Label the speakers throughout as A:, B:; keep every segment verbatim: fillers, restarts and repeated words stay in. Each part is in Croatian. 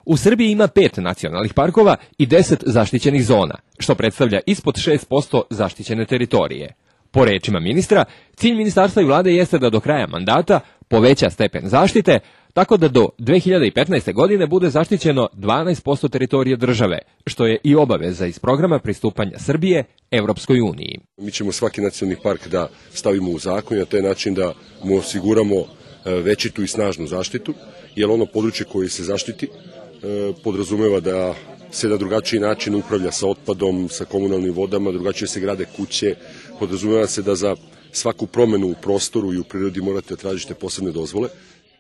A: U Srbiji ima pet nacionalnih parkova i deset zaštićenih zona, što predstavlja ispod šest posto zaštićene teritorije. Po rečima ministra, cilj ministarstva i vlade jeste da do kraja mandata poveća stepen zaštite, tako da do dve hiljade petnaeste. godine bude zaštićeno dvanaest posto teritorije države, što je i obaveza iz programa pristupanja Srbije Evropskoj uniji.
B: Mi ćemo svaki nacionalni park da stavimo u zakon i na taj način da mu osiguramo većitu i snažnu zaštitu, jer ono područje koje se zaštiti podrazumeva da se na drugačiji način upravlja sa otpadom, sa komunalnim vodama, drugačije se grade kuće, podrazumeva se da za svaku promenu u prostoru i u prirodi morate tražiti posebne dozvole.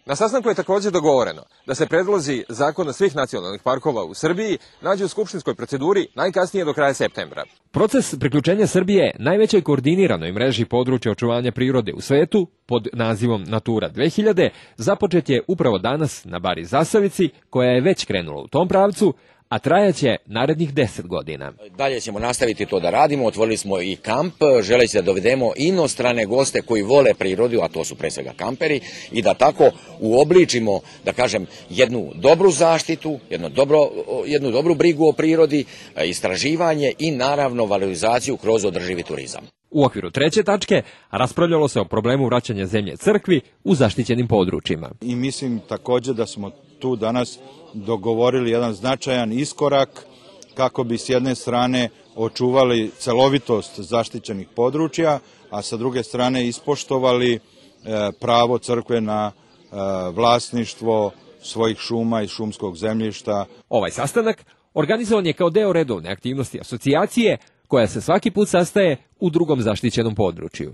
A: Na sastanku je također dogovoreno da se predlozi zakona svih nacionalnih parkova u Srbiji nađu u skupštinskoj proceduri najkasnije do kraja septembra. Proces priključenja Srbije najvećoj koordiniranoj mreži područja očuvanja prirode u svetu pod nazivom Natura dve hiljade započet je upravo danas na Bari Zasavici, koja je već krenula u tom pravcu, a trajaće narednih deset godina.
C: Dalje ćemo nastaviti to da radimo, otvorili smo i kamp, želeći da dovedemo inostrane goste koji vole prirodu, a to su pre svega kamperi, i da tako uobličimo, da kažem, jednu dobru zaštitu, jednu, dobro, jednu dobru brigu o prirodi, istraživanje i naravno valorizaciju kroz održivi turizam.
A: U okviru treće tačke raspravljalo se o problemu vraćanja zemlje crkvi u zaštićenim područjima.
D: I mislim također da smo tu danas dogovorili jedan značajan iskorak kako bi s jedne strane očuvali celovitost zaštićenih područja, a sa druge strane ispoštovali pravo crkve na vlasništvo svojih šuma i šumskog zemljišta.
A: Ovaj sastanak organizovan je kao deo redovne aktivnosti asocijacije, koja se svaki put sastaje u drugom zaštićenom području.